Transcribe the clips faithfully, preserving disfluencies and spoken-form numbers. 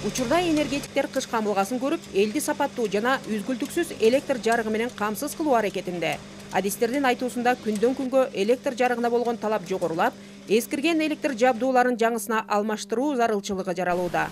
Учурда энергетиктер кыш камылгасын көрүп, элди сапаттуу жана үзгүлтүксүз электр жарыгы менен камсыз кылуу аракетинде. Адистердин айтуусунда күндөн күнгө электр жарыгына болгон талап жогорулап, эскирген электр жабдууларын жаңысына алмаштыруу зарылчылыгы жаралууда.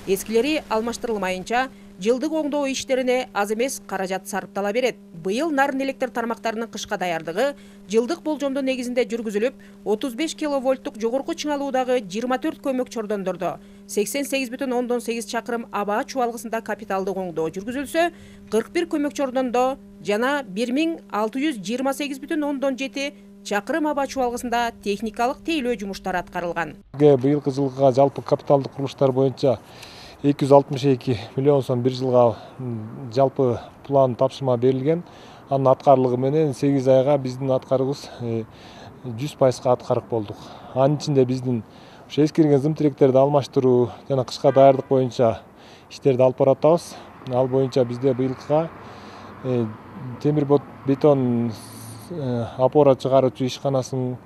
Эскилери алмаштырылмайынча, жылдык оңдоо иштерине аз эмес каражат сарптала берет. Быйыл нарын электр тармактарынын кышка даярдыгы жылдык болжомдун негизинде жүргүзүлүп, отуз беш киловольттук жогорку чыңалуудагы жыйырма төрт көмөк чордондордо сексен сегиз бүтүн ондон сегиз чакырым аба чубалгысында капиталдык оңдоо жүргүзүлсө, кырк бир көмөк чордондо жана бир миң алты жүз жыйырма сегиз бүтүн ондон жети чакырым аба чубалгысында техникалык тейлөө жумуштары аткарылган. Быйылкы жылга жалпы капиталдык курулуштар боюнча эки жүз алтымыш эки миллион сом бир жылга жалпы план тапшырма берилген. Анын аткарылыгы менен сегиз айга биздин аткарыбыз жүз пайызга аткарып болдук. Анын ичинде биздин эскирген зым тиректерди алмаштыруу жана кышка даярдык боюнча иштерди алып баратабыз. Ал боюнча бизде быйылкыга темир бетон опора чыгаруучу ишканасын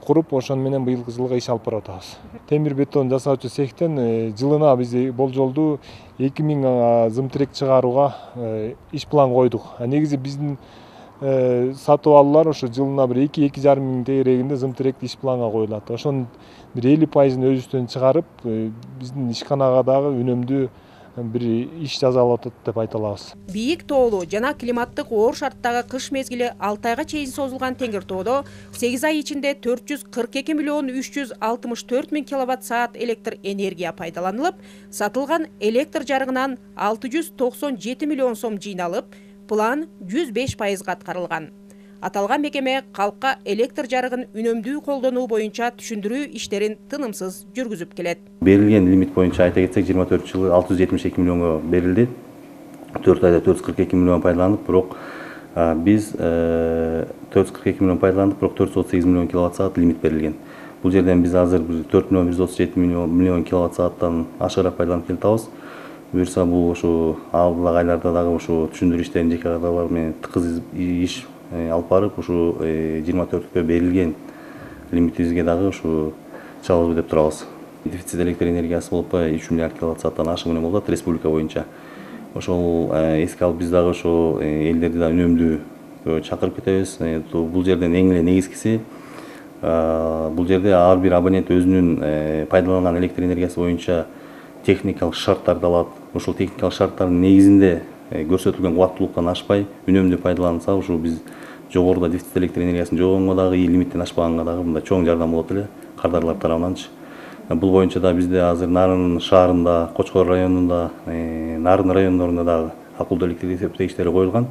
куруп, ошону менен быйылкы жылга иш алып баратабыз. Темир бетон жасаучу цехтен жылына биз болжолдуу эки миң зым тирек чыгарууга иш план койдук. Негизи биздин сатып алуулар ошо жылына бир эки эки жарым миң тегерегинде зым тиректи иш планга коюлат. Ошонун бир элүү пайызын өзүбүздөн чыгарып, биздин ишканага дагы үнөмдүү бир иш жасалып атат деп айта алабыз. Бийик тоолуу жана климаттык оор шарттагы кыш мезгили алты айга чейин созулган Теңиртоодо сегиз ай ичинде төрт жүз кырк эки миллион үч жүз алтымыш төрт миң киловатт саат электр энергия пайдаланылып, сатылган электр жарыгынан алты жүз токсон жети миллион сом жыйналып, план жүз беш пайызга аткарылган. Аталган мекеме калкка электр жарыгын үнөмдүү колдонуу боюнча түшүндүрүү иштерин тынымсыз жүргүзүп келет. Берилген лимит боюнча айта кетсек, жыйырма төрт жылы алты жүз жетимиш эки миллионго берилди. төрт айда төрт жүз кырк эки миллион пайдаланып, бирок биз төрт жүз кырк эки миллион пайдаландык, бирок төрт жүз отуз сегиз миллион киловатт саат лимит берилген. Бул жерден биз азыр төрт миллион жүз отуз жети миллион киловатт сааттан ашыгыраак пайдаланып келатабыз. Буюрса бул ошо алдыдагы айларда дагы ошо түшүндүрүү иштерин жеке кадрлар менен тыгыз иш алып барып, ушу жыйырма төрткө берилген лимитибизге дагы ушу чалабыз деп турабыз. Дефицит электр энергиясы болуп үч миллиард киловатт сааттан ашыгы менен болот республика боюнча. Ошол эске алып биз дагы ошо элдерди да үнөмдүү чакырып кетебиз. Бул жерден эң эле негизгиси, бул жерде ар бир абонент өзүнүн пайдаланган электр энергиясы боюнча техникалык шарттарды алат. Ошол техникалык шарттардын негизинде көрсөтүлгөн кубаттуулуктан ашпай үнөмдүү пайдаланса, ушу биз жогоруда дефицит электр энергиясын жогонгго дагы, лимиттен ашпаганга дагы мындай чоң жардам болот эле кардарлар тарабынанчы. Бул боюнча да бизде азыр Нарын шаарында, Кочкор районунда, Нарын райондорунда дагы акылдуу электр эсептегичтери коюлган.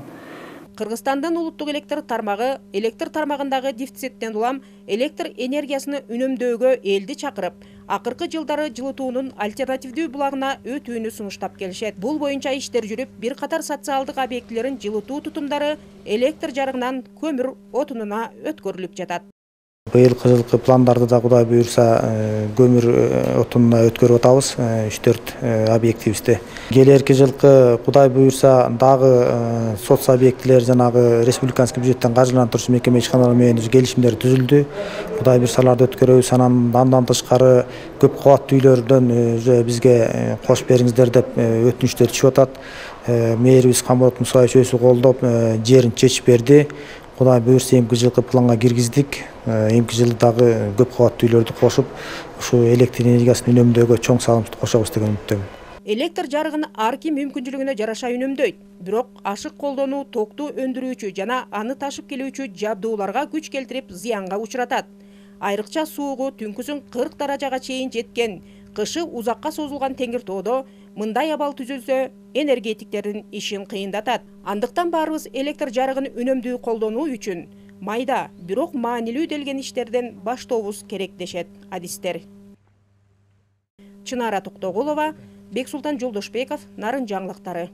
Кыргызстандын улуттук электр тармагы электр тармагындагы дефициттен улам электр энергиясыны үнөмдөөгө элди чакырып, акыркы жылдары жылытуунун альтернативдүү булагына өтүүнү сунуштап келишет. Бул боюнча иштер жүрүп, бир катар социалдык объектилерин жылытуу тутумдары электр жарыгынан көмүр отунуна өткөрүлүп жатат. Быйылкы жылкы пландарды да Кудай буюрса көмүр отунуна өткөрүп атабыз үч төрт объектибизди. Келерки жылкы Кудай буюрса дагы соц объектилер жанагы республиканский бюджеттен каржыландыруучу мекеме ишканалар менен келишимдер түзүлдү. Кудай буюрса аларды өткөрөбүз. Анан андан тышкары көп кабаттуу үйлөрдөн уже бизге кошуп бериңиздер деп өтүнүчтөр түшүп атат. Мэрибиз Камболот Мусаевич өзү колдоп жерин чечип берди. Кудай буюрса эмки жылкы планга киргиздик. Эмки жылы дагы көп кабаттуу үйлөрдү кошуп, ушу электр энергиясын үнөмдөөгө чоң салымды кошобуз деген үмүттөмүн. Электр жарыгын ар ким мүмкүнчүлүгүнө жараша үнөмдөйт. Бирок ашык колдонуу токту өндүрүүчү жана аны ташып келүүчү жабдууларга күч келтирип зыянга учуратат. Айрыкча суугу түнкүсүн кырк даражага чейин жеткен, кышы узакка созулган Теңиртоодо мындай абал түзүлсө, энергетиктердин ишин кыйындатат. Андыктан баарыбыз электр жарыгын үнөмдүү колдонуу үчүн майда, бирок маанилүү делген иштерден баштообуз керек дешет адистер. Чынара Токтогулова, Бексултан Жолдошбеков, Нарын жаңылыктары.